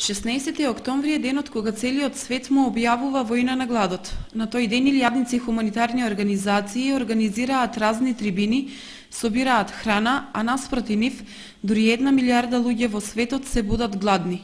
16 октомври е денот кога целиот свет му објавува војна на гладот. На тој ден илјадници хуманитарни организации организираат разни трибини, собираат храна, а наспроти нив дури 1 милијарда луѓе во светот се будат гладни.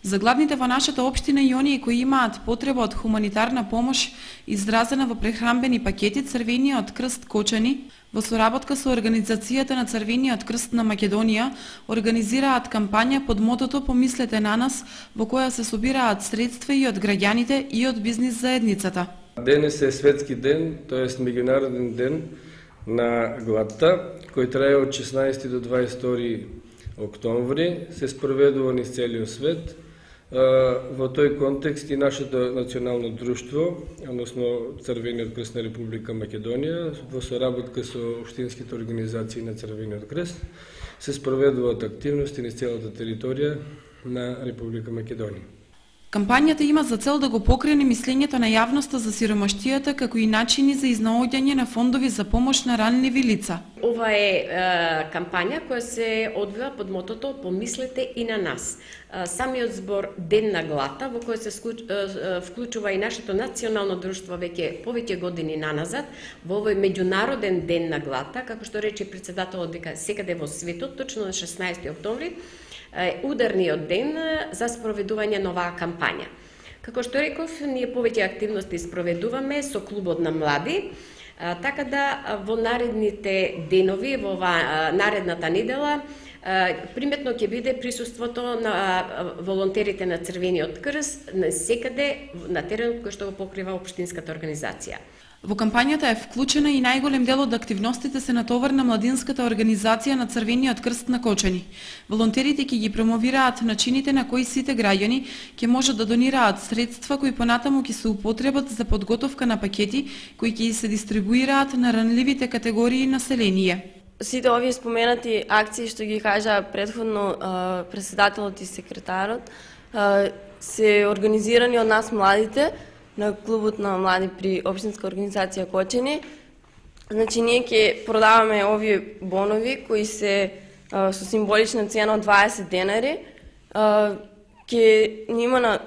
За гладните во нашата општина и оние кои имаат потреба од хуманитарна помош изразена во прехранбени пакети, Црвениот крст Кочани во соработка со Организацијата на Црвениот крст на Македонија организираат кампања под мотото "Помислете на нас", во која се собираат средства и од граѓаните и од бизнис заедницата. Денес е светски ден, тоест меѓународен ден на гладта, кој трае од 16 до 22 октомври, се спроведува низ целиот свет. Во тој контекст и нашето национално друштво, односно Црвениот крст на Република Македонија, во соработка со општинските организации на Црвениот крст, се спроведуваат активности низ целата територија на Република Македонија. Кампањата има за цел да го покрене мислењето на јавноста за сиромаштијата, како и начини за изнаоѓање на фондови за помош на ранливи лица. Ова е кампања која се одвива под мотото "Помислете и на нас". Самиот збор Ден на гладта, во кој се вклучува и нашето национално друштво веќе повеќе години наназад, во овој меѓународен Ден на гладта, како што рече председателот дека секаде во светот, точно на 16 октомври, ударниот ден за спроведување на оваа кампања. Како што реков, ние повеќе активности спроведуваме со клубот на млади, така да во наредните денови, во наредната недела, приметно ќе биде присуството на волонтерите на Црвениот крст секаде на теренот кој што го покрива општинската организација. Во кампањата е вклучена и најголем дел од активностите се натовар на младинската организација на Црвениот крст на Кочани. Волонтерите ќе ги промовираат начините на кои сите граѓани ќе можат да донираат средства кои понатаму ќе се употребат за подготовка на пакети кои ќе се дистрибуираат на ранливите категории население. Сите овие споменати акции што ги кажа претходно председателот и секретарот се организирани од нас младите на клубот на млади при општинска организација Кочани. Значи ние ќе продаваме овие бонови кои се со символична цена од 20 денари. Ќе има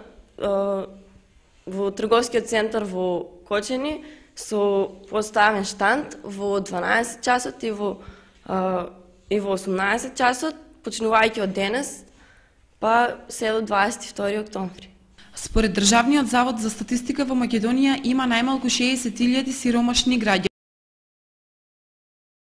во трговскиот центар во Кочани со поставен штанд во 12 часот и во 18 часот, почнувајќи од денес, па се до 22 октомври. Според Државниот завод за статистика во Македонија има најмалку 60.000 сиромашни граѓани.